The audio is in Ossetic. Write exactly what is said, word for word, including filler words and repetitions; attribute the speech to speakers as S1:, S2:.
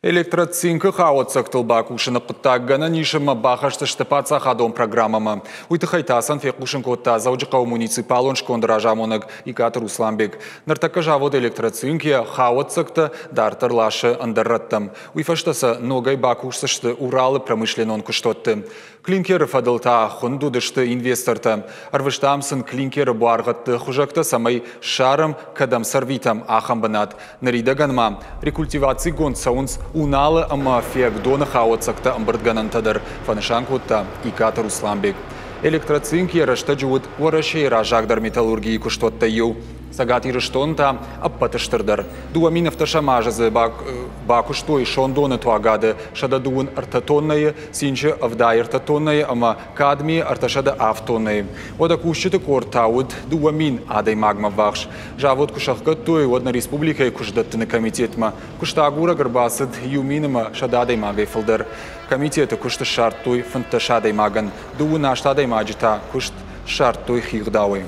S1: Электроцинкы хауӕццӕгтыл бакусыны хъуыддаг гӕнӕн ис ӕмӕ бахӕсдзысты паддзахадон программӕмӕ. Уый тыххӕй ТАСС-ӕн фехъусын кодта Дзӕуджыхъӕуы муниципалон сконды разамонӕг Икъаты Русланбег. Ныртӕккӕ завод «Электроцинк» йӕ хауӕццӕгтӕ дарддӕр ласы ӕндӕр рӕттӕм. Уый фӕстӕ сӕ ногӕй бакусдзысты Уралы промышленнон куыстуӕтты. Клинкеры фӕдыл та хуынд уыдысты инвестортӕ. Ӕрвыстам сын клинкеры буаргъӕдты хуызӕгтӕ, цӕмӕй ссарӕм, кӕдӕм сӕрвитӕм, ахӕм бынат. Ныридӕгӕн ма рекультивацигонд цӕуынц Уналы ӕмӕ Фиагдоны хауӕццӕгтӕ ӕмбырдгӕнӕнтӕ дӕр, фӕнысан кодта Икъаты Русланбег. «Электроцинк» йӕ рӕстӕджы уыд Уӕрӕсейы раззагдӕр металлургийы куыстуӕттӕй иу. Цӕгат Ирыстоны та ӕппӕты стырдӕр. Дыууӕ мин ӕвддӕсӕм азы дзы бакуыстой сондоны туагады сӕдӕ дыууын ӕртӕ тоннӕйы, цинчы ӕвдай ӕртӕ тоннӕйы ӕмӕ кадмийы ӕртӕсӕдӕ авд тоннӕйы. Уӕдӕ кусджыты къорд та уыд дыууӕ мин адӕймагмӕ ввахс. Завод куы сӕхгӕдтой, уӕд нӕ республикӕйы куыстдӕттыны комитетмӕ куыстагурӕг ӕрбацыд иу мин ӕмӕ сӕдӕ адӕймагӕй фылдӕр. Комитеты куыст ссардтой фынддӕс адӕймагӕн, дыууын аст адӕймаджы та куыст ссардтой хигъдауӕй.